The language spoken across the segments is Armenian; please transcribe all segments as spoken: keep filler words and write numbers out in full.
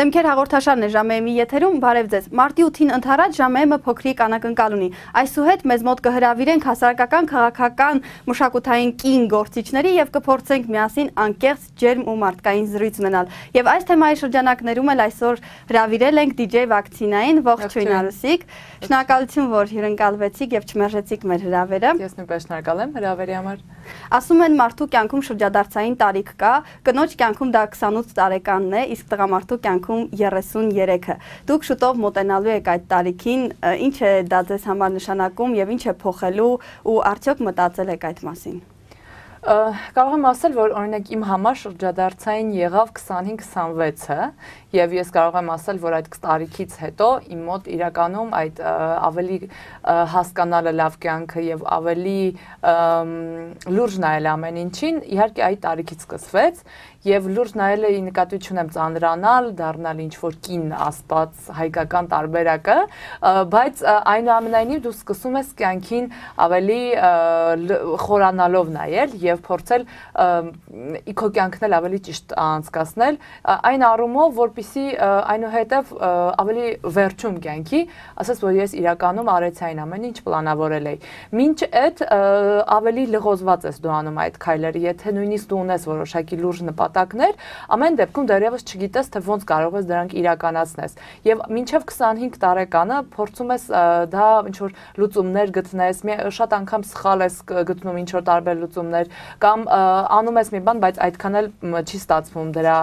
Դեմքեր հաղորդաշարն է ժամը եթերում, բարև ձեզ։ Մարտի ութին ընթառաջ ժամը փոքրիկ անակնկալ ունի։ Այսուհետ մեզ մոտ կհրավիրենք հասարակական, քաղաքական, մշակութային կին գործիչների եւ կփորձենք միասին անկեղծ, ջերմ ու մարդկային զրույց ունենալ։ Եվ այս թեմայի շրջանակներում էլ այսօր հրավիրել ենք դիջեյ Վակցինային, ողջույն Արուսիկ։ Շնորհակալություն, որ հյուրընկալվեցիք եւ չմերժեցիք մեր հրավերը։ Ես նույնպես շնորհակալ եմ հրավերի համար։ Ասում են մարդու կյանքում շրջադարձային տարիք կա, կնոջ կյանքում դա քսանութ տարեկանն է, իսկ տղամարդու կյանքում երեսունյերեքը։ Դուք շուտով մոտենալու եք այդ տարիքին, ինչ է դա ձեզ համար նշանակում եւ ինչ է փոխելու ու արդյոք մտածել եք այդ մասին։ Կարող եմ ասել, որ օրինակ իմ համար շրջադարձային եղավ քսանհինգ քսանվեցը եւ ես կարող եմ ասել, որ այդ տարիքից հետո իմ մոտ իրականում այդ ավելի հասկանալը լավ կյանքը եւ ավելի լուրջ նայել ամեն ինչին իհարկե այդ տարիքից սկսվեց եւ լուրջ նայելը ի նկատի ունեմ ծանրանալ, դառնալ ինչ որ կին ասպաց հայկական տարբերակը, բայց այնուամենայնիվ դու սկսում ես կյանքին ավելի խորանալով նայել եւ փորձել իքո կյանքն էլ ավելի ճիշտ անցկացնել այն առումով, որպեսզի այնուհետև ավելի վերջում կյանքի, ասես որ ես իրականում արեցի այն ամեն ինչ պլանավորել էի։ Մինչ այդ ավելի լղոզված ես դու անում այդ քայլերը, եթե նույնիսկ դու ունես որոշակի լուրջ նպատակներ, ամեն դեպքում դեռևս չգիտես թե ոնց կարող ես դրանք իրականացնես։ Եվ մինչև քսանհինգ տարեկանը փորձում ես դա ինչ որ լուծումներ գտնես, շատ անգամ սխալ ես գտնում ինչ որ տարբեր լուծումներ կամ անում ես մի բան, բայց այդքան էլ չի ստացվում դրա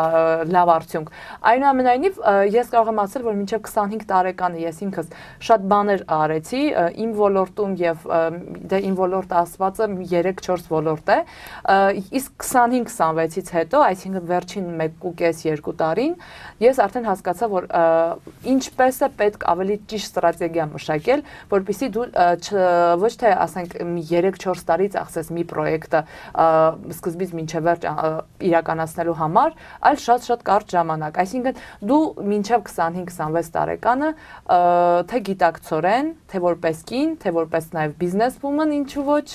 լավ արդյունք։ Այնուամենայնիվ ես կարող եմ ասել, որ մինչև քսանհինգ տարեկանը ես ինքս շատ բաներ արեցի իմ ոլորտում եւ դե իմ ոլորտը ասվածը երեք չորս ոլորտ է, իսկ քսանհինգ քսանվեցից հետո, այսինքն վերջին մեկ ու կես երկու տարին, ես արդեն հասկացա, որ ինչպես է պետք ավելի ճիշտ ստրատեգիա մշակել, որպեսզի դու ոչ թե ասենք երեք չորս տարի ծախսես մի պրոյեկտը սկզբից մինչև վերջ իրականացնելու համար, այլ շատ-շատ կարճ ժամանակ։ Այսինքն դու մինչև քսանհինգ քսանվեց տարեկանը թե գիտակցորեն, թե որպես կին, թե որպես նաև բիզնես woman, ինչու ոչ,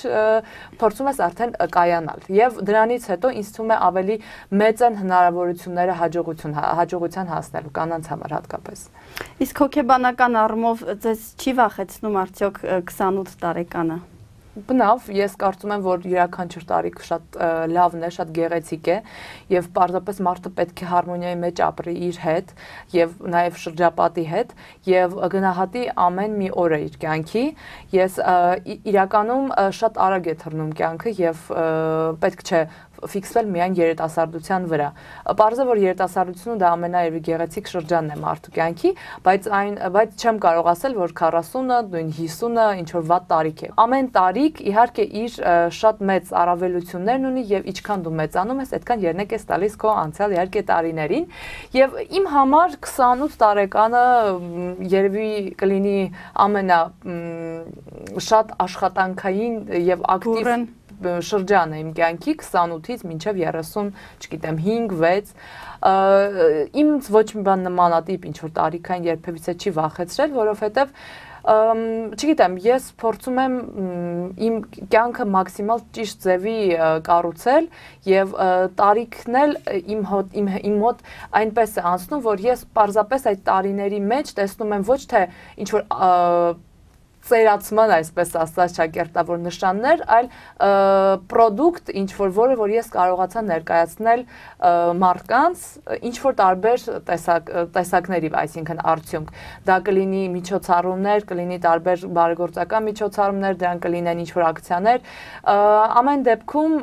փորձում ես արդեն կայանալ։ Եվ դրանից հետո ինձ թվում է ավելի մեծ են հնարավորությունները հաջողություն հաջողության հասնելու կանանց համար հատկապես։ Իսկ հոգեբանական առումով ձեզ չի վախեցնում արդյոք քսանութ տարեկանը։ Բնավ, ես կարծում եմ, որ յուրաքանչյուր տարիք շատ լավն է, շատ գեղեցիկ է եւ պարզապես մարդը պետք է հարմոնիայի մեջ ապրի իր հետ եւ նաեւ շրջապատի հետ եւ գնահատի ամեն մի օրը իր կյանքի։ Ես իրականում շատ արագ է թռնում կյանքը եւ պետք չէ ֆիքսվել միայն երիտասարդության վրա։ Պարզ է, որ երիտասարդությունը դա ամենաերևի գեղեցիկ շրջանն է մարդու կյանքի, բայց այն բայց չեմ կարող ասել, որ քառասունը, նույն հիսունը ինչ որ վատ տարիք է։ Ամեն տարիք իհարկե իր շատ մեծ առավելություններն ունի եւ ինչքան դու մեծանում ես, այդքան երնեք ես տալիս քո անցյալ իհարկե տարիներին։ Եվ իմ համար քսանութ տարեկանը երևի կլինի ամենա շատ աշխատանքային եւ ակտիվ շրջանը իմ կյանքի քսանութից մինչև երեսուն, չգիտեմ, հինգ վեց, ինձ ոչ մի բան նմանատիպ ինչ որ տարիքային երբևիցե չի վախեցրել, որովհետև չգիտեմ, ես փորձում եմ իմ կյանքը մաքսիմալ ճիշտ ձևի կառուցել եւ տարիքն էլ իմ հոտ իմ իմ մոտ այնպես է անցնում, որ ես պարզապես այդ տարիների մեջ տեսնում եմ ոչ թե ինչ որ ծերացման, այսպես ասած, ճակերտավոր նշաններ, այլ պրոդուկտ, ինչ որ որը, որ ես կարողացա ներկայացնել մարդկանց, ինչ որ տարբեր տեսակ, տեսակների, այսինքն արդյունք։ Դա կլինի միջոցառումներ, կլինի տարբեր բարեգործական միջոցառումներ, դրանք կլինեն ինչ որ ակցիաներ։ Ամեն դեպքում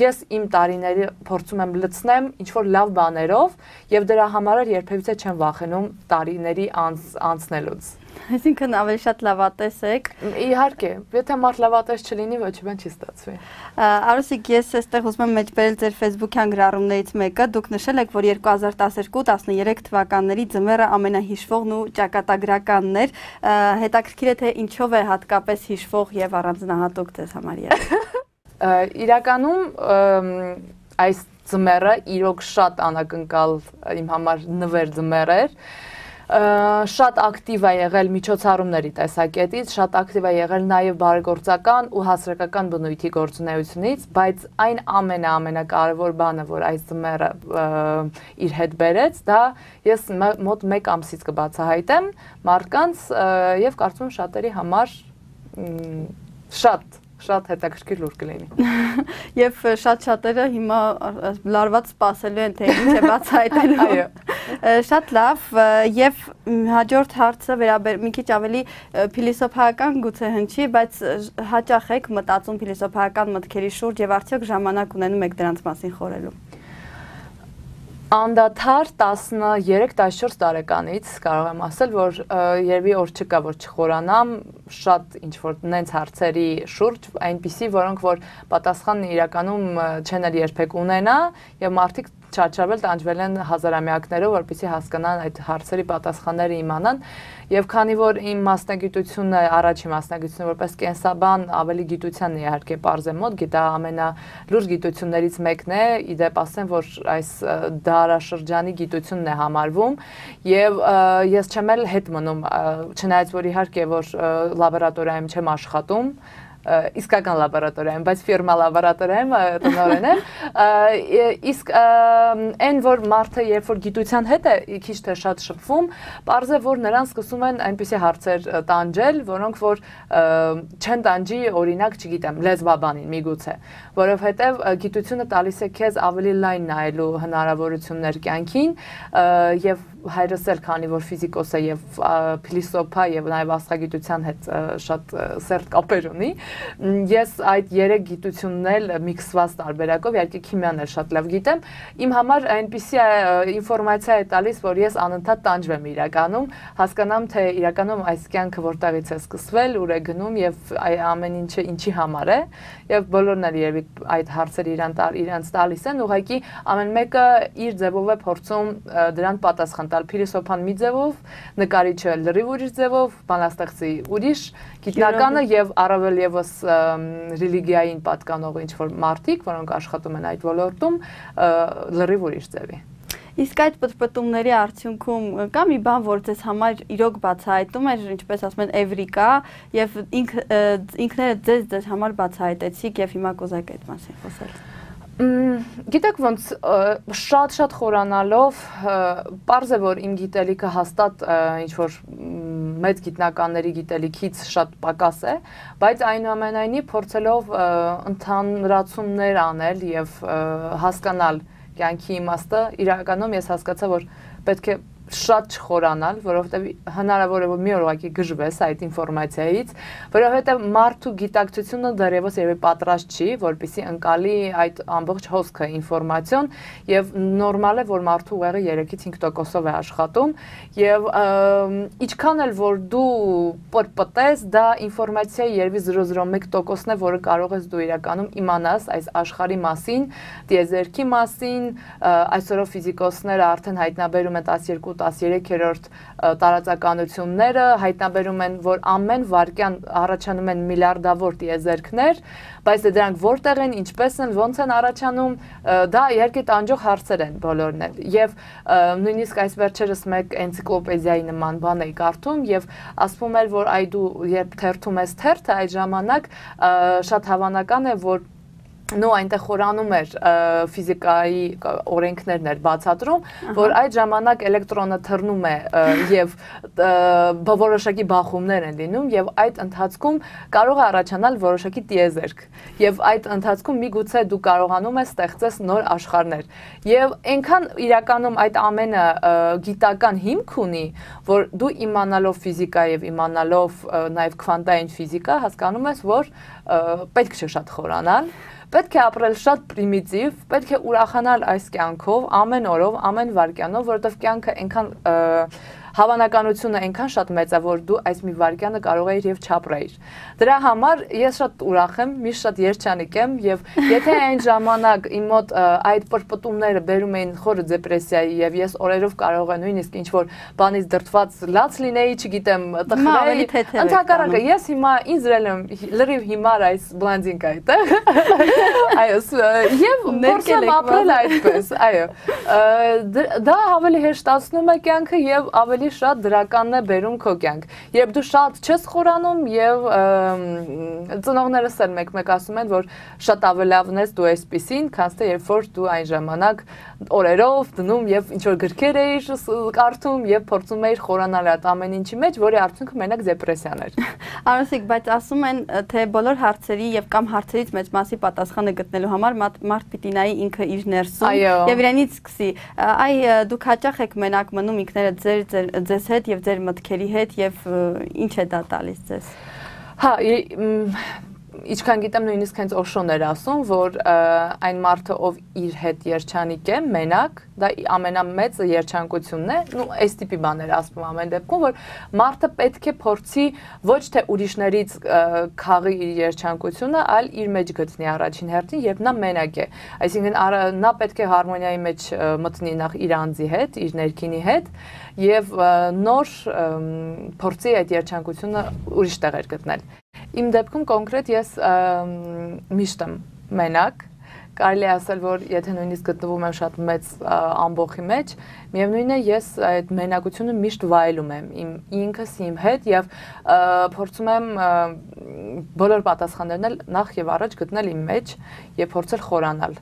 ես իմ տարիները փորձում եմ լցնեմ ինչ որ լավ բաներով եւ դրա համար երբևիցե չեմ վախենում տարիների անցնելուց։ Այսինքն ավելի շատ լավատես եք։ Իհարկե, եթե մարդ լավատես չլինի, ոչ մի բան չի ստացվի։ Արուսիկ, ես այստեղ ուզում եմ մեջբերել ձեր Facebook-յան գրառումներից մեկը, դուք նշել եք, որ երկու հազար տասներկու տասներեք թվականների ձմեռը ամենահիշվողն ու ճակատագրականն էր։ Հետաքրքիր է թե ինչով է հատկապես հիշվող եւ առանձնահատուկ ձեզ համար եղել։ Իրականում այս ձմեռը իրոք շատ անակնկալ իմ համար նվեր ձմեռ էր։ շատ ակտիվ է եղել միջոցառումների տեսակետից, շատ ակտիվ է եղել նաև բարեգործական ու հասարակական բնույթի գործունեությունից, բայց այն ամենաամենակարևոր բանը, որ այս ձմեռը իր հետ բերեց, դա ես մոտ մեկ ամսից կբացահայտեմ մարդկանց եւ կարծում եմ շատերի համար շատ շատ հետաքրքիր լուր կլինի։ Եւ շատ շատերը հիմա լարված սպասելու են թե ինչ է բացահայտելու։ Այո։ Շատ լավ, եւ հաջորդ հարցը վերաբեր մի քիչ ավելի փիլիսոփայական գուցե հնչի, բայց հաճախ եք մտածում փիլիսոփայական մտքերի շուրջ եւ արդյոք ժամանակ ունենում եք դրանց մասին խորելու։ Անդադար տասներեք տասնչորս տարեկանից կարող եմ ասել, որ երևի օր չկա, որ չխորանամ շատ ինչ-որ նենց հարցերի շուրջ, այնպիսի, որոնք որ պատասխան իրականում չեն էլ երբեք ունենա եւ մարդիկ չարչարվել տանջվել են հազարամյակներով, որպեսզի հասկանան այդ հարցերի պատասխանները իմանան, եւ քանի որ իմ մասնագիտությունը, առաջին մասնագիտությունը որպես կենսաբան ավելի գիտության է իհարկե պարզ է մոտ, գիտա ամենալուրջ գիտություններից մեկն է, իդեպ ասեմ, որ այս դարաշրջանի գիտությունն է համարվում, եւ ես չեմ էլ հետ մնում, չնայած որ իհարկե որ լաբորատորիայում չեմ աշխատում, իսկական լաբորատորիայում, բայց ֆիրմա լաբորատորիայում տնօրեն եմ, իսկ այն որ մարդը երբ որ գիտության հետ է քիչ թե շատ շփվում, պարզ է որ նրան սկսում են այնպիսի հարցեր տանջել, որոնք որ չեն տանջի օրինակ, չգիտեմ, լեզվաբանին միգուցե, որովհետև գիտությունը տալիս է քեզ ավելի լայն նայելու հնարավորություններ կյանքին եւ հայրս էլ քանի որ ֆիզիկոս է եւ փիլիսոփա եւ նաեւ աստղագիտության հետ շատ սերտ կապեր ունի, ես այդ երեք գիտությունն էլ միքսված տարբերակով, իհարկե քիմիան էլ շատ լավ գիտեմ, իմ համար այնպիսի ինֆորմացիա է տալիս, որ ես անընդհատ տանջվեմ իրականում, հասկանամ թե իրականում այս կյանքը որտեղից է սկսվել, ուր է գնում եւ ամեն ինչը ինչի համար է եւ բոլորն էլ երևի այդ հարցերը իրանց տալիս են, ուղղակի ամեն մեկը իր ձևով է փորձում դրան պատասխան տալ, փիլիսոփան մի ձևով, նկարիչը լրիվ ուրիշ ձևով, բանաստեղծի ուրիշ, գիտնականը եւ առավել եւս ռելիգիային պատկանող ինչ-որ մարդիկ, որոնք աշխատում են այդ ոլորտում, լրիվ ուրիշ ձևի։ Իսկ այդ պտպտումների արդյունքում կա մի բան, որ ձեզ համար իրոք բացահայտում էր, ինչպես ասում են, էվրիկա, եւ ինքներդ ձեզ ձեզ համար բացահայտեցիք եւ հիմա կուզեք այդ մասին խոսել։ Գիտեք ոնց շատ-շատ խորանալով, պարզ է որ իմ գիտելիքը հաստատ ինչ-որ մեծ գիտնականների գիտելիքից շատ պակաս է, բայց այնուամենայնիվ փորձելով ընդհանրացումներ անել եւ հասկանալ կյանքի իմաստը, իրականում ես հասկացա, որ պետք է շատ չխորանալ, որովհետև հնարավոր է որ մի օր ուղղակի գժվես այդ ինֆորմացիայից, որովհետև մարդու գիտակցությունը դեռևս երևի պատրաստ չի, որպեսզի ընկալի այդ ամբողջ հոսքը ինֆորմացիոն եւ նորմալ է որ մարդու ուղեղը երեքից հինգ տոկոսով է աշխատում եւ ինչքան էլ որ դու պրպտես, դա ինֆորմացիայի երևի զրո զրո մեկ տոկոսն է, որը կարող ես դու իրականում իմանաս այս աշխարհի մասին, տիեզերքի մասին, այսօրով ֆիզիկոսները արդեն հայտնաբերում են տասներկու տասներեքերորդ տարածականությունները, հայտնաբերում են, որ ամեն վայրկյան առաջանում են միլիարդավոր տիեզերքներ, բայց դրանք որտեղ են, ինչպես են, ոնց են առաջանում, դա իհարկե տանջող հարցեր են բոլորն էլ։ Եվ նույնիսկ այս վերջերս մեկ էնցիկլոպեդիայի նման բան էի կարդում եւ ասվում էր, որ այ դու երբ թերթում ես թերթը, այդ ժամանակ շատ հավանական է, որ նո այնտեղ խորանում էր ֆիզիկայի օրենքներն էր բացատրում, որ այդ ժամանակ էլեկտրոնը թռնում է եւ որոշակի բախումներ են լինում եւ այդ ընթացքում կարող է առաջանալ որոշակի տիեզերք եւ այդ ընթացքում միգուցե դու կարողանում ես ստեղծես նոր աշխարհներ եւ այնքան իրականում այդ ամենը գիտական հիմք ունի, որ դու իմանալով ֆիզիկա եւ իմանալով նաեւ քվանտային ֆիզիկա հասկանում ես, որ պետք չէ շատ խորանալ, պետք է ապրել շատ պրիմիտիվ, պետք է ուրախանալ այս կյանքով, ամեն օրով, ամեն վայրկյանով, որովհետև կյանքը այնքան հավանականությունը այնքան շատ մեծ է, որ դու այս մի վայրկյանը կարող ես եւ չապրեիր։ Դրա համար ես շատ ուրախ եմ, միշտ շատ երջանիկ եմ եւ եթե այն ժամանակ իմ մոտ այդ պրպտումները բերում էին խորը դեպրեսիայի եւ ես օրերով կարող եմ նույնիսկ ինչ որ բանից դրթված լաց լինեի, չգիտեմ, տխրեի, ընդհակառակը ես հիմա ինձ դրել եմ լրիվ հիմար այս բլանդինգ այդտեղ։ Այո, եւ փորձեմ ապրել այդպես, այո։ Դա ավելի հեշտացնում է կյանքը եւ ավելի ավելի շատ դրականն է բերում քո կյանք։ Երբ դու շատ չես խորանում եւ ծնողներս էլ մեկ-մեկ ասում են, որ շատ ավելի լավն ես դու այսպեսին, քան թե երբ որ դու այն ժամանակ օրերով դնում եւ ինչ որ գրքեր էիր կարդում եւ փորձում էիր խորանալ այդ ամեն ինչի մեջ, որի արդյունքը մենակ դեպրեսիան էր։ Արուսիկ, բայց ասում են, թե բոլոր հարցերի եւ կամ հարցերից մեծ մասի պատասխանը գտնելու համար մարդ պիտի նայի ինքը իր ներսում եւ իրենից սկսի։ Այ դուք հաճախ եք մենակ մնում ինքներդ ձեր ձեզ հետ եւ ձեր մտքերի հետ եւ ինչ է դա տալիս ձեզ։ Հա, Ինչքան գիտեմ նույնիսկ հենց Օշոն էր ասում, որ այն մարդը, ով իր հետ երջանիկ է, մենակ, դա ամենամեծ երջանկությունն է, ու այս տիպի բաներ ասում ամեն դեպքում, որ մարդը պետք է փորձի ոչ թե ուրիշներից քաղի իր երջանկությունը, այլ իր մեջ գտնի առաջին հերթին, երբ նա մենակ է։ Այսինքն նա պետք է հարմոնիայի մեջ մտնի նախ իր անձի հետ, իր ներքինի հետ, եւ նոր փորձի այդ երջանկությունը ուրիշ տեղեր գտնել։ Իմ դեպքում կոնկրետ ես միշտ եմ մենակ, կարելի է ասել, որ եթե նույնիսկ գտնվում եմ շատ մեծ ամբոխի մեջ, միևնույն է ես այդ մենակությունը միշտ վայելում եմ իմ ինքս իմ հետ եւ փորձում եմ բոլոր պատասխաններն էլ նախ եւ առաջ գտնել իմ մեջ եւ փորձել խորանալ,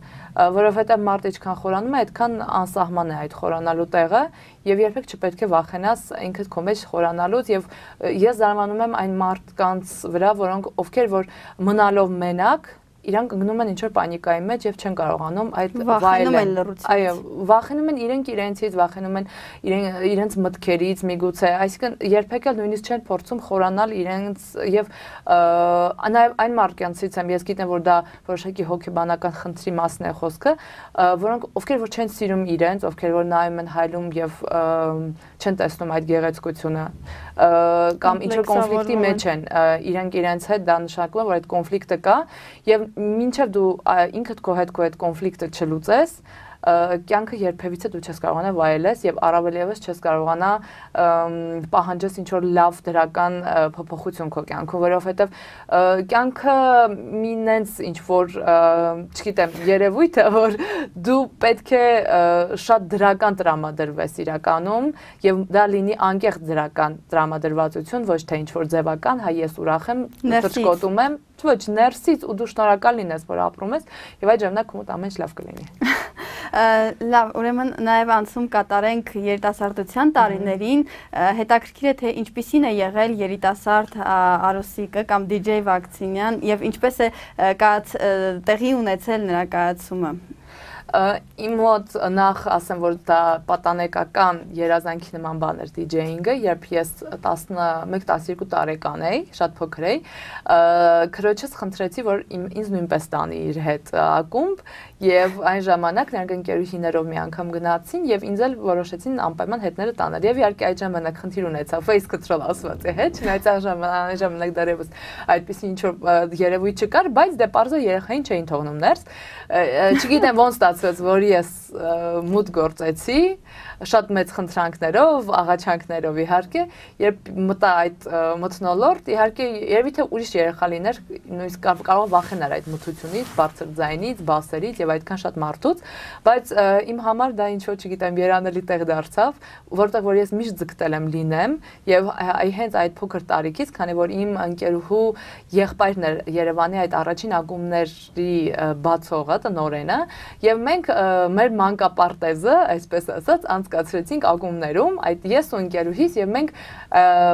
որովհետեւ մարդը ինչքան խորանում է, այդքան անսահման է այդ խորանալու տեղը եւ երբեք չպետք է վախենաս ինքդ քո մեջ խորանալուց եւ ես զարմանում եմ այն մարդկանց վրա, որոնք ովքեր որ մնալով մենակ իրանք ընկնում են ինչ-որ պանիկայի մեջ եւ չեն կարողանում այդ վայելել։ Այո, վախենում են իրենք իրենցից, վախենում են իրենց մտքերից, միգուցե, այսինքն երբեք էլ նույնիսկ չեն փորձում խորանալ իրենց եւ նաեւ այն մարդկանցից եմ, ես գիտեմ, որ դա որոշակի հոգեբանական խնդրի մասն է խոսքը, որոնք ովքեր որ չեն սիրում իրենց, ովքեր որ նայում են հայլում եւ չեն տեսնում այդ գեղեցկությունը կամ ինչ-որ կոնֆլիկտի մեջ են իրենք իրենց հետ, դա նշանակում է, որ այդ կոնֆլիկտը կա եւ մինչև դու ինքդ քո հետ քո այդ կոնֆլիկտը չլուծես, կյանքը երբևիցե դու չես կարողանա վայելես եւ առավել եւս չես կարողանա պահանջես ինչ որ լավ դրական փոփոխություն քո կյանքում, որովհետեւ կյանքը մի նենց ինչ որ, չգիտեմ, երևույթ է, որ դու պետք է շատ դրական տրամադրվես իրականում եւ դա լինի անկեղծ դրական տրամադրվածություն, ոչ թե ինչ որ ձևական, հա ես ուրախ եմ, ծրճկոտում եմ, ոչ ներսից ու դու շնորհակալ լինես, որ ապրում ես եւ այդ ժամանակ քո մոտ ամեն ինչ լավ կլինի։ Լավ, ուրեմն նաև անցում կատարենք երիտասարդության տարիներին, հետաքրքիր է թե ինչպիսին է եղել երիտասարդ Արուսիկը կամ դիջեյ Վակցինյան եւ ինչպես է տեղի ունեցել նրա կայացումը։ Իմ մոտ նախ ասեմ, որ դա պատանեկական երազանքի նման բան էր դիջեյինգը, երբ ես տասնմեկ տասներկու տարեկան էի, շատ փոքր էի, քրոջս խնդրեցի, որ ինձ նույնպես տանի իր հետ ակումբ եւ այն ժամանակ նրանք ընկերուհիներով մի անգամ գնացին եւ ինձ էլ որոշեցին անպայման հետները տանել եւ իհարկե այդ ժամանակ խնդիր ունեցա face control ասված է, հա, չնայած այն ժամանակ ժամանակ դեռևս այդպեսի ինչ որ երևույթ չկար, բայց դե պարզը երեխային չէին թողնում ներս, չգիտեմ ոնց ստացվեց, որ ես մուտ գործեցի շատ մեծ խնդրանքներով, աղաչանքներով իհարկե, երբ մտա այդ մթնոլորտ, իհարկե երևի թե ուրիշ երեխա լիներ, նույնիսկ կարող վախենար այդ մթությունից, բարձր ձայնից, բասերից եւ այդքան շատ մարդուց, բայց իմ համար դա ինչ որ չգիտեմ, երանելի տեղ դարձավ, որտեղ որ ես միշտ ձգտել եմ լինեմ եւ հենց այդ փոքր տարիքից, քանի որ իմ ընկերուհու եղբայրն էր Երևանի այդ առաջին ակումբների բացողը, տնօրենը, եւ մենք մեր մանկապարտեզը, այսպես ասած, անցկացրեցինք ակումբներում, այդ ես ու ընկերուհիս եւ մենք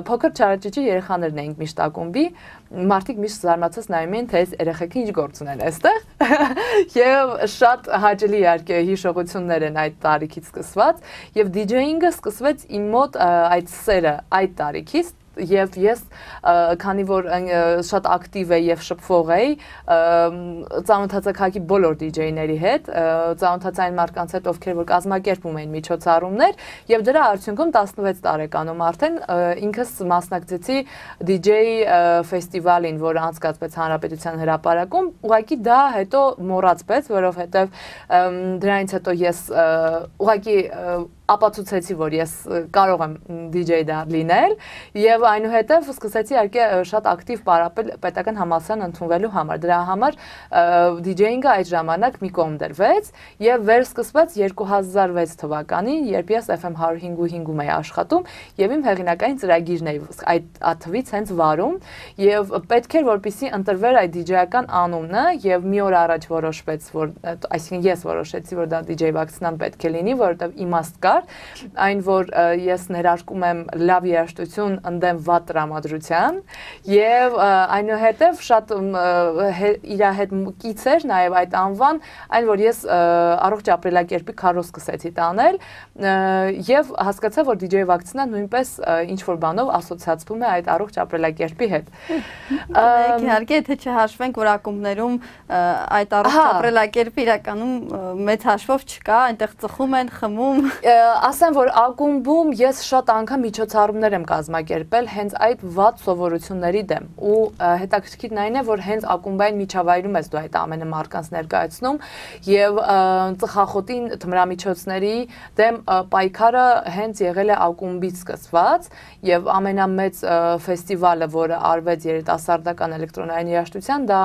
փոքր չարաճճի երեխաներն էինք միշտ ակումբի, մարդիկ միշտ զարմացած նայում էին, թե այս երեխեքը ինչ գործ ունեն այստեղ եւ շատ հաճելի իհարկե հիշողություններ են այդ տարիքից սկսված եւ դիջեյինգը սկսվեց իմ մոտ այդ սերը այդ տարիքից եւ ես քանի որ շատ ակտիվ էի եւ շփվող էի ծանոթացա քաղաքի բոլոր դիջեյների հետ, ծանոթացա այն մարդկանց հետ, ովքեր որ կազմակերպում էին միջոցառումներ եւ դրա արդյունքում տասնվեց տարեկանում արդեն ինքս մասնակցեցի դիջեյ ֆեստիվալին, որը անցկացվեց Հանրապետության հրապարակում, ուղղակի դա հետո մոռացվեց, որովհետեւ դրանից հետո ես ուղղակի ապացուցեցի, որ ես կարող եմ դիջեյ դառ լինել եւ այնուհետեւ սկսեցի իհարկե շատ ակտիվ պարապել պետական համալսարան ընդունվելու համար։ Դրա համար դիջեյինգը այդ ժամանակ մի կողմ դրվեց եւ վերսկսվեց երկու հազար վեց թվականին, երբ ես F M one oh five point five-ում էի աշխատում եւ իմ հեղինակային ծրագիրն էի այդ թվից հենց վարում եւ պետք էր որպեսզի ընտրվեր այդ դիջեյական անունը եւ մի օր առաջ որոշվեց, որ այսինքն ես որոշեցի, որ դա դիջեյ վակցինան պետք է լինի, որովհետեւ իմաստ կար այն որ ես ներարկում եմ լավ երաժշտություն ընդդեմ վատ տրամադրության եւ այնուհետեւ շատ իր հետ կից էր նաեւ այդ անվան, այն որ ես առողջ ապրելակերպի քարոզ սկսեցի տանել եւ հասկացա, որ դիջեյ վակցինան նույնպես ինչ որ բանով ասոցիացվում է այդ առողջ ապրելակերպի հետ։ Իհարկե, եթե չհաշվենք, որ ակումբներում այդ առողջ ապրելակերպը իրականում մեծ հաշվով չկա, այնտեղ ծխում են, խմում։ Ասեմ, որ ակումբում ես շատ անգամ միջոցառումներ եմ կազմակերպել հենց այդ վատ սովորությունների դեմ ու հետաքրքիրն այն է, որ հենց ակումբային միջավայրում ես դու այդ ամենը մարդկանց ներկայացնում եւ ծխախոտին թմրամիջոցների դեմ պայքարը հենց եղել է ակումբից սկսված եւ ամենամեծ ֆեստիվալը, որը արվեց երիտասարդական էլեկտրոնային երաժշտության, դա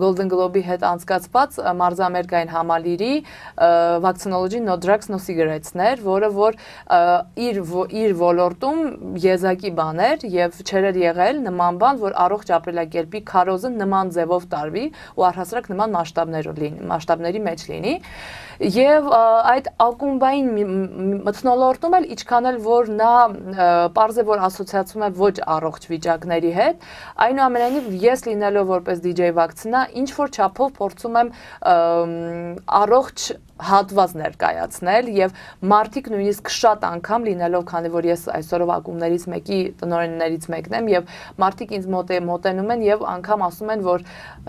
Golden Globe-ի հետ անցկացված մարզամերկային համալիրի Vaccinology No Drugs No Cigarettes-ն էր, որը որ իր իր ոլորտում եզակի բան էր եւ չեր եղել նման բան, որ առողջ ապրելակերպի քարոզը նման ձևով տարվի ու առհասարակ նման մասշտաբներով լինի, մասշտաբների մեջ լինի եւ այդ ակումբային մթնոլորտում էլ ինչքան էլ որ նա պարզ է որ ասոցիացում է ոչ առողջ վիճակների հետ, այնուամենայնիվ ես լինելով որպես դիջեյ վակցինա ինչ որ չափով փորձում եմ առողջ հատված ներկայացնել եւ մարդիկ նույնիսկ շատ անգամ լինելով, քանի որ ես այսօրով ակումբներից մեկի տնօրեններից մեկն եմ եւ մարդիկ ինձ մոտ մոտենում են եւ անգամ ասում են, որ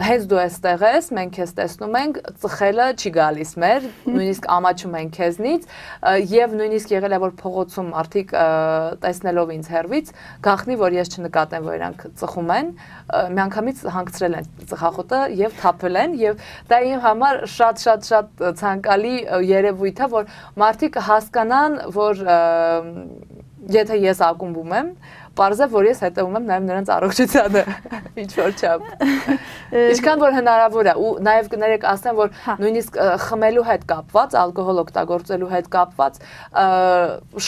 հենց դու այստեղ ես, մենք քեզ տեսնում ենք, ծխելը չի գալիս մեր, նույնիսկ ամաչում են քեզնից եւ նույնիսկ եղել է որ փողոցում մարդիկ տեսնելով ինձ հեռվից գախնի, որ ես չնկատեմ, որ իրանք ծխում են, միանգամից հանգցրել են ծխախոտը եւ թափել են եւ դա իմ համար շատ շատ շատ ցանկալի երևույթ է, որ մարդիկ հասկանան, որ եթե ես ակումբում եմ, պարզ է, որ ես հետևում եմ նաև նրանց առողջությանը, ինչ որ չափ։ Ինչքան որ հնարավոր է, ու նաև կներեք ասեմ, որ նույնիսկ խմելու հետ կապված, ալկոհոլ օգտագործելու հետ կապված,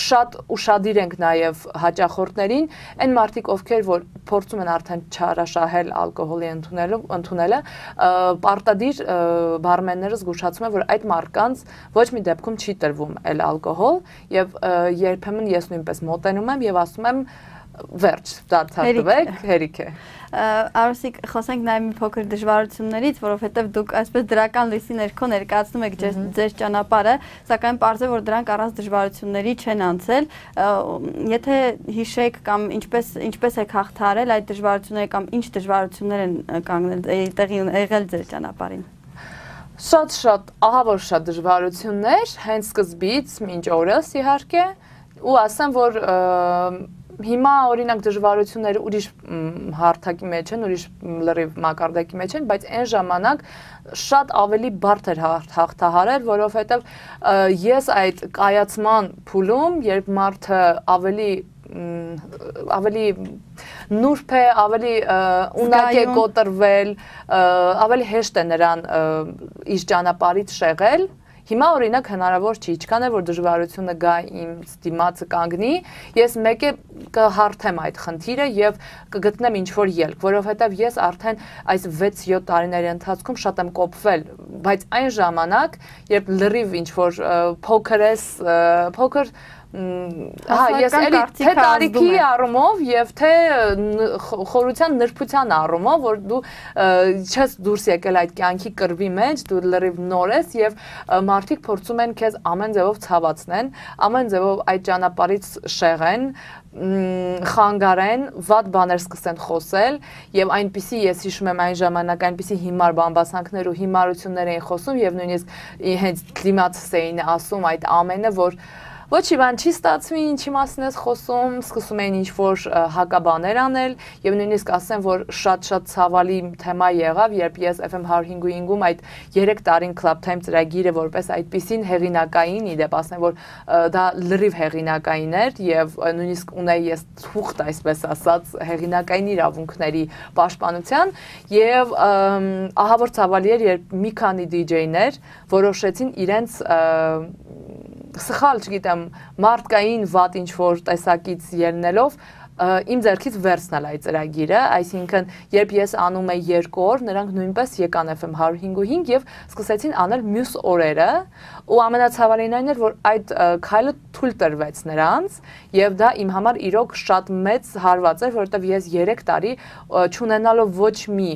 շատ ուշադիր ենք նաև հաճախորդներին, այն մարդիկ, ովքեր որ փորձում են արդեն չարաշահել ալկոհոլի ընդունելը, պարտադիր բարմենները զգուշացում են, որ այդ մարդկանց ոչ մի դեպքում չի տրվում էլ ալկոհոլ, եւ երբեմն ես նույնպես մոտենում եմ եւ ասում եմ վերջ, դարձարտվեք, հերիք է։ Արուսիկ, խոսենք նաև մի փոքր դժվարություններից, որովհետև դուք այսպես դրական լույսի ներքո ներկայացնում եք ձեր ճանապարհը, սակայն պարզ է, որ դրանք առանց դժվարությունների չեն անցել։ Եթե հիշեք կամ ինչպես ինչպես եք հաղթահարել այդ դժվարությունները կամ ինչ դժվարություններ են կանգնել տեղի եղել ձեր ճանապարհին։ Շատ-շատ, ահա որ շատ դժվարություններ, հենց սկզբից մինչ օրս իհարկե, ու ասեմ, որ հիմա օրինակ դժվարությունները ուրիշ հարթակի մեջ են, ուրիշ լրիվ մակարդակի մեջ են, բայց այն ժամանակ շատ ավելի բարդ էր հաղթահարել, որովհետև ես այդ կայացման փուլում, երբ մարդը ավելի ավելի նուրբ է, ավելի ունակ է կոտրվել, ավելի հեշտ է նրան իր ճանապարհից շեղել։ Հիմա օրինակ հնարավոր չի, ինչքան է որ դժվարությունը գա իմ դիմացը կանգնի, ես մեկ է կհարթեմ այդ խնդիրը եւ կգտնեմ ինչ որ ելք, որովհետեւ ես արդեն այս վեց յոթ տարիների ընթացքում շատ եմ կոփվել, բայց այն ժամանակ, երբ լրիվ ինչ որ փոքր ես, փոքր Հա, ես էլի թե տարիքի առումով եւ թե խորության նրբության առումով, որ դու չես դուրս եկել այդ կյանքի կռվի մեջ, դու լրիվ նոր ես եւ մարդիկ փորձում են քեզ ամեն ձևով ցավացնեն, ամեն ձևով այդ ճանապարհից շեղեն, խանգարեն, վատ բաներ սկսեն խոսել եւ այնպիսի ես հիշում եմ այն ժամանակ այնպիսի հիմար բամբասանքներ ու հիմարություններ էին խոսում եւ նույնիսկ հենց դիմացս էին ասում այդ ամենը, որ ոչ մի բան չի ստացվի, ինչի մասին ես խոսում, սկսում էին ինչ-որ հակաբաներ անել, եւ նույնիսկ ասեմ, որ շատ-շատ ցավալի թեմա եղավ, երբ ես F M one oh five-ում այդ երեք տարին Club Time ծրագիրը որպես այդպիսին հեղինակային, իդեպ ասեմ, որ դա լրիվ հեղինակային էր եւ նույնիսկ ունեի ես թուղթ, այսպես ասած, հեղինակային իրավունքների պաշտպանության եւ ահա որ ցավալի էր, երբ մի քանի դիջեյներ որոշեցին իրենց սխալ, չգիտեմ, մարդկային վատ ինչ-որ տեսակից ելնելով իմ ձեռքից վերցնել այդ ծրագիրը, այսինքն երբ ես անում եի երկու օր, նրանք նույնպես եկան F M one oh five եւ սկսեցին անել մյուս օրերը, ու ամենացավալին այն էր, որ այդ քայլը թույլ տրվեց նրանց, եւ դա իմ համար իրոք շատ մեծ հարված էր, որովհետեւ ես երեք տարի չունենալով ոչ մի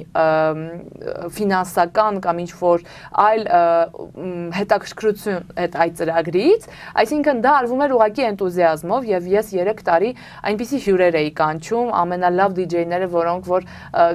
ֆինանսական կամ ինչ-որ այլ հետաքրքրություն այդ այդ ծրագրից, այսինքն դա արվում էր ուղղակի էնտուզիազմով եւ ես երեք տարի այնպիսի հյուրեր էի կանչում, ամենալավ դիջեյները, որոնք որ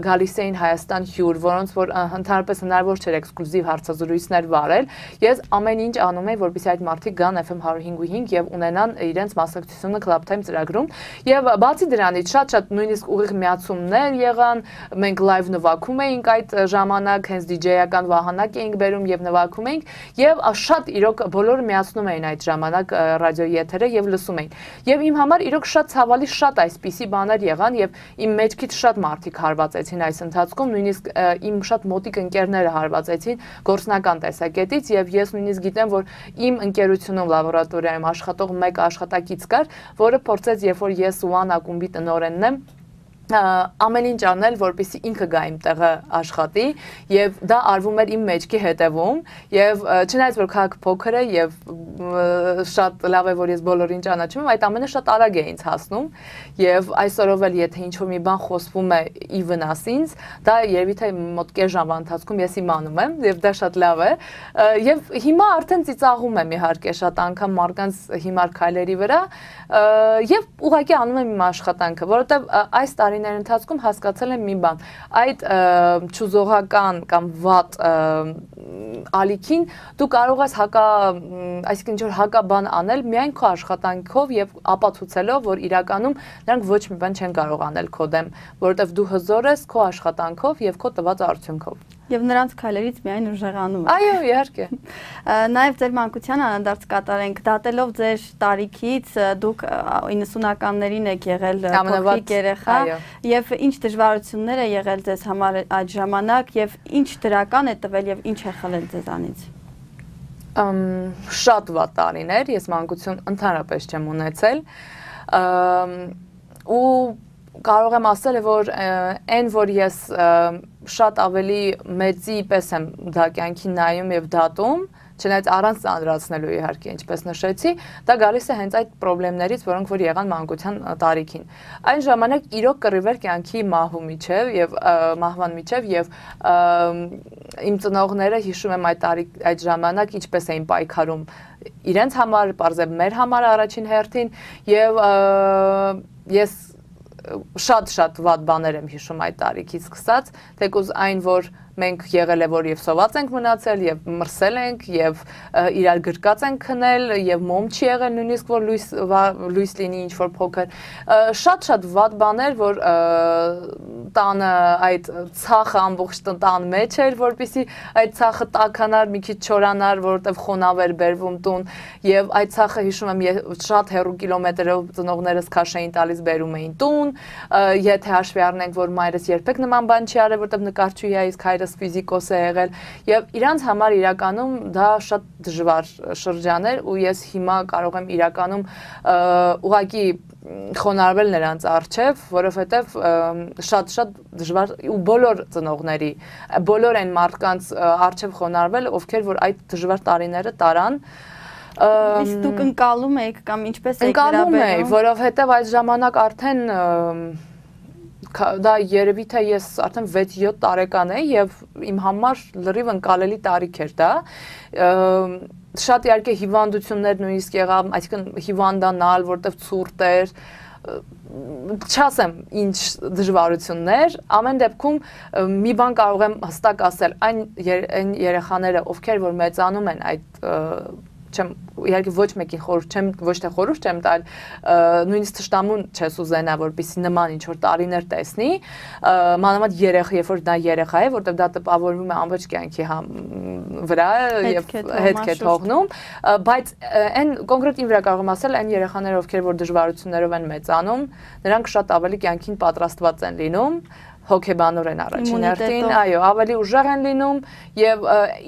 գալիս էին Հայաստան հյուր, որոնց որ ընդհանրապես հնարավոր չէր էքսկլյուզիվ հարցազրույցներ վարել, ես ամեն ինչ անում էի, որպեսզի այդ մարդիկ գան F M one oh five եւ ունենան իրենց մասնակցությունը Club Time ծրագրում, եւ բացի դրանից շատ-շատ նույնիսկ ուղիղ միացումներ եղան, մենք լայվ նվագում էինք այդ ժամանակ, հենց դիջեյական վահանակ էինք բերում եւ նվագում էինք, եւ շատ իրոք բոլորը միացնում էին այդ ժամանակ ռադիոյի եթերը եւ լսում էին, եւ իմ համար իրոք շատ ցավալի շատ այսպիսի բաներ եղան եւ իմ մեջքից շատ մարդիկ հարվածեցին այս ընթացքում, նույնիսկ իմ շատ մոտիկ ընկերները հարվածեցին գործնական տեսակետից եւ ես նույնիսկ գիտեմ, որ իմ ընկերությունում լաբորատորիայում աշխատող մեկ աշխատակից կար, որը փորձեց, երբ որ ես One ակումբի տնօրենն եմ, ամեն ինչ անել, որպեսզի ինքը գա իմ տեղը աշխատի եւ դա արվում էր իմ մեջքի հետևում եւ չնայած որ քաղաքը փոքր է եւ շատ լավ է որ ես բոլորին ճանաչում եմ, այդ ամենը շատ արագ է ինձ հասնում եւ այսօրով էլ եթե ինչ-որ մի բան խոսվում է ի վնաս ինձ, դա երևի թե մոտ կես ժամվա ընթացքում ես իմանում եմ եւ դա շատ լավ է եւ հիմա արդեն ծիծաղում եմ իհարկե շատ անգամ մարդկանց հիմար քայլերի վրա եւ ուղղակի անում եմ իմ աշխատանքը, որովհետեւ այս տարիների ընթացքում հասկացել եմ մի բան, այդ չուզողական կամ վատ ալիքին դու կարող ես հակա, այսինքն ինչ-որ հակաբան անել միայն քո աշխատանքով եւ ապացուցելով, որ իրականում նրանք ոչ մի բան չեն կարող անել քո դեմ, որովհետեւ դու հզոր ես քո աշխատանքով եւ քո տված արդյունքով։ Եվ նրանց քայլերից միայն ուժեղանում եք։ Այո, իհարկե։ Նաև ձեր մանկության անանդարձ կատարենք, դատելով ձեր տարիքից դուք իննսունականներին եք եղել փոքրիկ երեխա, եւ ինչ դժվարություններ է եղել ձեզ համար այդ ժամանակ եւ ինչ դրական է տվել եւ ինչ է խլել ձեզանից։ Շատ վատ տարիներ, ես մանկություն ընդհանրապես չեմ ունեցել։ Ու կարող եմ ասել, որ այն, որ ես շատ ավելի մեծի պես եմ դա կյանքի նայում եւ դատում, չնայած առանց ծանրացնելու իհարկե, ինչպես նշեցի, դա գալիս է հենց այդ խնդիրներից, որոնք որ եղան մանկության տարիքին։ Այն ժամանակ իրոք կռիվ էր կյանքի մահու միջև եւ մահվան միջև եւ իմ ծնողները հիշում եմ այդ տարիք այդ ժամանակ ինչպես էին պայքարում իրենց համար, պարզեպ մեր համար առաջին հերթին եւ ես շատ-շատ վատ բաներ եմ հիշում այդ տարիքից սկսած, թեկուզ այն, որ մենք եղել է, որ եւ սոված ենք մնացել, եւ մրսել ենք, եւ իրար գրկած ենք քնել, եւ մոմ չի եղել, նույնիսկ որ լույս լույս լինի ինչ-որ փոքր։ Շատ-շատ վատ բաներ, որ տանը այդ ցախը ամբողջ տան մեջ էր, որպեսզի այդ ցախը տաքանար, մի քիչ չորանար, որովհետեւ խոնավ էր բերվում տուն, եւ այդ ցախը հիշում եմ շատ հեռու կիլոմետրերով ծնողներս քաշ էին տալիս բերում էին տուն, եթե հաշվի առնենք, որ մայրս երբեք նման բան չի արել, որովհետեւ նկարչուհի է, իսկ հայրս ֆիզիկոս է եղել եւ իրանց համար իրականում դա շատ դժվար շրջան էր ու ես հիմա կարող եմ իրականում ուղղակի խոնարհվել նրանց առջև, որովհետեւ շատ-շատ դժվար ու բոլոր ծնողների, բոլոր այն մարդկանց առջև խոնարհվել, ովքեր որ այդ դժվար տարիները տարան Իսկ դուք ընկալում եք կամ ինչպես եք վերաբերվում։ Ընկալում եի, որովհետեւ այդ ժամանակ արդեն դա երևի թե ես արդեն վեց-յոթ տարեկան էի եւ իմ համար լրիվ ընկալելի տարիք էր դա շատ իհարկե հիվանդություններ նույնիսկ եղավ, այսինքն հիվանդանալ, որտեվ ցուրտ էր, չասեմ ինչ դժվարություններ, ամեն դեպքում մի բան կարող եմ հստակ ասել, այն երեխաները, ովքեր որ մեծանում են այդ չեմ իհարկե ոչ մեկին խորհուրդ չեմ ոչ թե խորհուրդ չեմ տալ նույնիսկ թշնամուն չես ուզենա որպեսզի նման ինչ որ տարիներ տեսնի մանավանդ երեխա երբ որ դա երեխա է որտեղ դա տպավորվում է ամբողջ կյանքի վրա եւ հետք է թողնում բայց այն կոնկրետ իմ վրա կարող եմ ասել այն երեխաները ովքեր որ դժվարություններով են մեծանում նրանք շատ ավելի կյանքին պատրաստված են լինում հոգեբանորեն առաջին հերթին, այո, ավելի ուժեղ են լինում եւ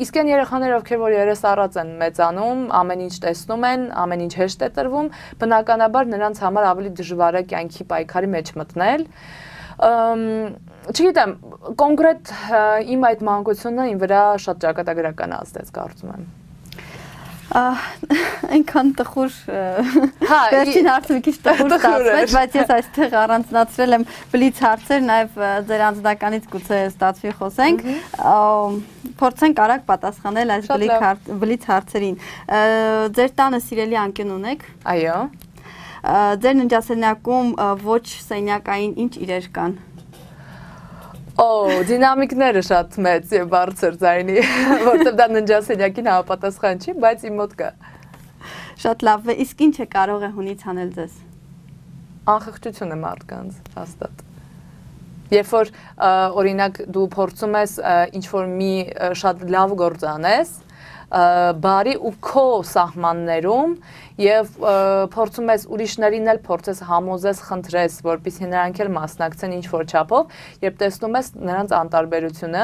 իսկ այն երեխաները, ովքեր որ երես առած են մեծանում, ամեն ինչ տեսնում են, ամեն ինչ հեշտ է տրվում, բնականաբար նրանց համար ավելի դժվար է կյանքի պայքարի մեջ մտնել։ Չգիտեմ, կոնկրետ իմ այդ մանկությունը իմ վրա շատ ճակատագրական ազդեց, կարծում եմ։ Այնքան տխուր վերջին հարցը մի քիչ տխուր ստացվեց, բայց ես այստեղ առանձնացրել եմ բլից հարցեր, նաև ձեր անձնականից գուցե ստացվի խոսենք, փորձենք արագ պատասխանել այս բլից հարցերին։ Ձեր տանը սիրելի անկյուն ունեք։ Այո։ Ձեր ննջասենյակում ոչ սենյակային ինչ իրեր կան։ Օ, դինամիկները շատ մեծ եւ բարձր ձայնի, որտեղ դա ննջասենյակին համապատասխան չի, բայց իմ մոտ կա։ Շատ լավ է, իսկ ինչ է կարող է հունից անել ձեզ։ Անխղճությունը մարդկանց, հաստատ։ Երբ որ օրինակ դու փորձում ես ինչ որ մի շատ լավ գործ անես, բարի ու քո սահմաններում եւ փորձում ես ուրիշներին էլ փորձես համոզես, խնդրես, որպեսզի նրանք էլ մասնակցեն ինչ որ չափով, երբ տեսնում ես նրանց անտարբերությունը,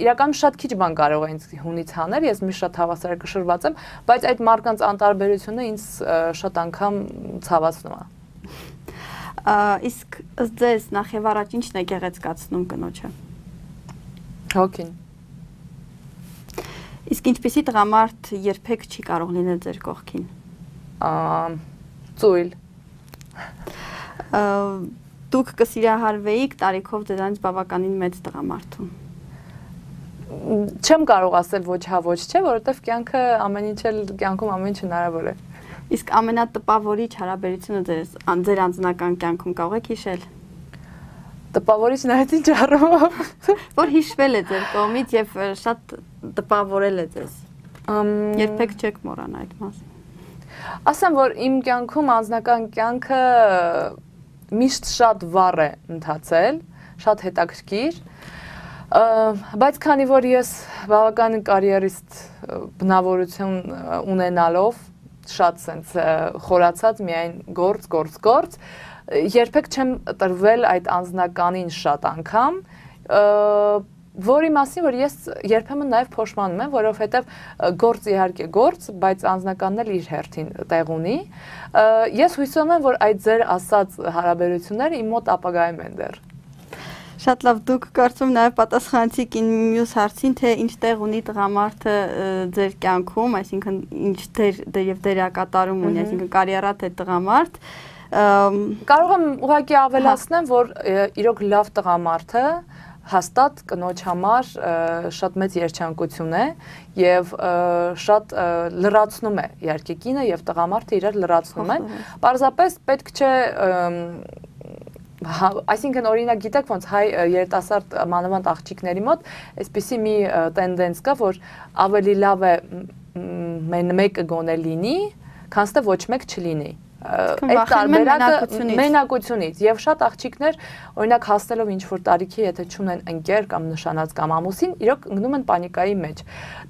իրականում շատ քիչ բան կարող է ինձ հունից հանել, ես մի շատ հավասարակշռված եմ, բայց այդ մարդկանց անտարբերությունը ինձ շատ անգամ ցավացնում է։ Իսկ ըստ ձեզ նախ եւ առաջ ինչն է գեղեցկացնում կնոջը։ Հոգին։ Իսկ ինչպեսի տղամարդ երբեք չի կարող լինել ձեր կողքին։ Ծույլ։ Դուք կսիրահարվեիք տարիքով ձեզանից բավականին մեծ տղամարդու։ Չեմ կարող ասել ոչ հա ոչ չէ, որովհետև կյանքը ամեն ինչ էլ կյանքում ամեն ինչ հնարավոր է։ Իսկ ամենատպավորիչ հարաբերությունը ձեր ձեր անձնական կյանքում կարող եք հիշել։ Տպավորիչ նայած ինչ առումով։ Որ հիշվել է ձեր կողմից եւ շատ տպավորել է ձեզ։ Երբեք չեք մոռանա այդ մասին։ Ասեմ, որ իմ կյանքում անձնական կյանքը միշտ շատ վառ է ընթացել, շատ հետաքրքիր, բայց քանի որ ես բավականին կարիերիստ բնավորություն ունենալով, շատ սենց խորացած միայն գործ, գործ, գործ, երբեք չեմ տրվել այդ անձնականին շատ անգամ, որի մասին, որ ես երբեմն նաև փոշմանում եմ, որովհետև գործ իհարկե գործ, բայց անձնականն էլ իր հերթին տեղ ունի։ Ես հույսում եմ, որ այդ ձեր ասած հարաբերությունները իմ մոտ ապագայում են դեռ։ Շատ լավ, դուք կարծում նաև պատասխանեցիք մյուս հարցին, թե ինչ տեղ ունի տղամարդը ձեր կյանքում, այսինքն ինչ դեր եւ դերակատարում ունի, այսինքն կարիերա թե տղամարդ։ Կարող եմ ուղղակի ավելացնեմ, որ իրոք լավ տղամարդը հաստատ կնոջ համար շատ մեծ երջանկություն է եւ շատ լրացնում է իհարկե կինը եւ տղամարդը իրար լրացնում են։ Պարզապես պետք չէ այսինքն օրինակ գիտեք ոնց հայ երիտասարդ մանավանդ աղջիկների մոտ այսպիսի մի տենդենս կա, որ ավելի լավ է մեկը գոնե լինի, քան թե ոչ մեկ չլինի։ Այդ տարբերակը մենակությունից եւ շատ աղջիկներ օրինակ հասնելով ինչ որ տարիքի եթե չունեն ընկեր կամ նշանած կամ ամուսին իրոք ընկնում են պանիկայի մեջ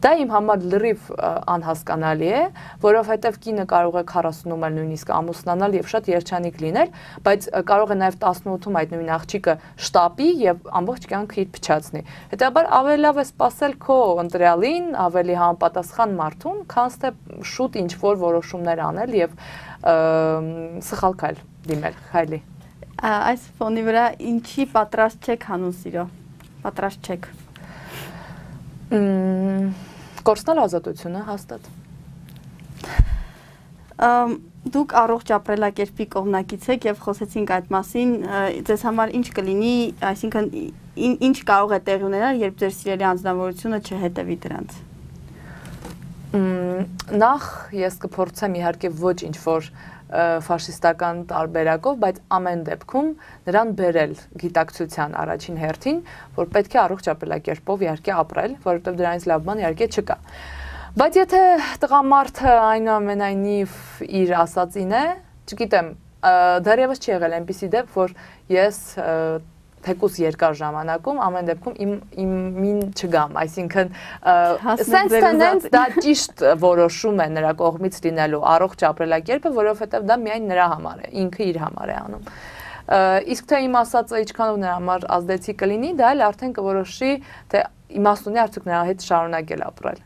դա իմ համար լրիվ անհասկանալի է որովհետեւ կինը կարող է քառասունում էլ նույնիսկ ամուսնանալ եւ շատ երջանիկ լինել բայց կարող է նաեւ տասնութում այդ նույն աղջիկը շտապի եւ ամբողջ կյանքը իր փչացնի հետեւաբար ավելի լավ է սпасել քո ընտրյալին ավելի համապատասխան մարդուն քան թե շուտ ինչ որ որոշումներ անել եւ սխալ քայլ դիմել, քայլի։ Այս ֆոնի վրա ինչի պատրաստ չեք հանուն սիրո, պատրաստ չեք։ Կորցնել ազատությունը, հաստատ։ Դուք առողջ ապրելակերպի կողմնակից եք եւ խոսեցինք այդ մասին, ձեզ համար ինչ կլինի, այսինքն ինչ կարող է տեղի ունենալ, երբ ձեր սիրելի անձնավորությունը չհետևի դրանց։ Նախ ես կփորձեմ իհարկե ոչ ինչ որ ֆաշիստական տարբերակով, բայց ամեն դեպքում նրան բերել գիտակցության առաջին հերթին, որ պետք է առողջ ապրելակերպով իհարկե ապրել, որովհետև դրանից լավ բան իհարկե չկա։ Բայց եթե տղամարդը այնուամենայնիվ իր ասածին է, չգիտեմ, դեռևս չի եղել այնպիսի դեպք, որ ես թեկուզ երկար ժամանակում ամեն դեպքում իմ իմին չգամ, այսինքն sense tendency դա ճիշտ որոշում է նրա կողմից լինելու առողջ ապրելակերպը, որովհետև դա միայն նրա համար է, ինքը իր համար է անում։ Իսկ թե իմ ասածը ինչքանով նրա համար ազդեցիկ կլինի, դա էլ արդեն կորոշի, թե իմաստ ունի արդյոք նրա հետ շարունակել ապրել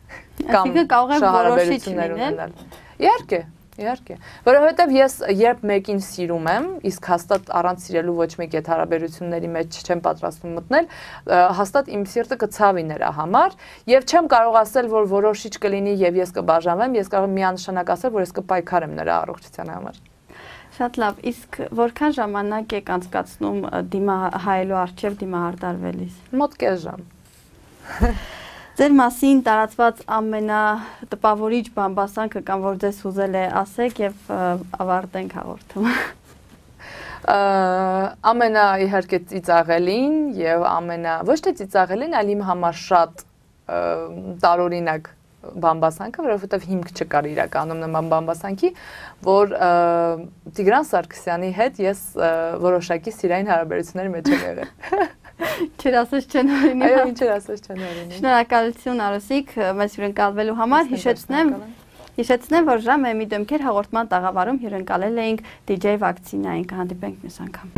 կամ շահարաբերություններ ունենալ։ Իհարկե, իհարկե, որովհետև ես երբ մեկին սիրում եմ, իսկ հաստատ առանց սիրելու ոչ մեկ այդ հարաբերությունների մեջ չեմ պատրաստվում մտնել, հաստատ իմ սիրտը կցավի նրա համար, եւ չեմ կարող ասել, որ որոշիչ կլինի եւ ես կբաժանվեմ, ես կարող եմ միանշանակ ասել, որ ես կպայքարեմ նրա առողջության համար։ Շատ լավ, իսկ որքան ժամանակ եք անցկացնում դիմահայելու առջև դիմահարդարվելիս։ Մոտ կես ժամ։ Ձեր մասին տարածված ամենատպավորիչ բամբասանքը կամ որ ձեզ ուզել է ասեք եւ ավարտենք հաղորդումը։ Ամենա իհարկե ծիծաղելին եւ ամենա ոչ թե ծիծաղելին, այլ իմ համար շատ տարօրինակ բամբասանքը, որովհետև հիմք չկար իրականում նման բամբասանքի, որ Տիգրան Սարգսյանի հետ ես որոշակի սիրային հարաբերությունների մեջ եմ եղել։ Չեր ասես չեն օրինի։ Այո, ինչեր ասես չեն օրինի։ Շնորհակալություն Արուսիկ, մեզ հյուրընկալվելու համար, հիշեցնեմ, հիշեցնեմ, որ ժամը մի դեմքեր հաղորդման տաղավարում հյուրընկալել էինք դիջեյ Վակցինային, կհանդիպենք մյուս անգամ։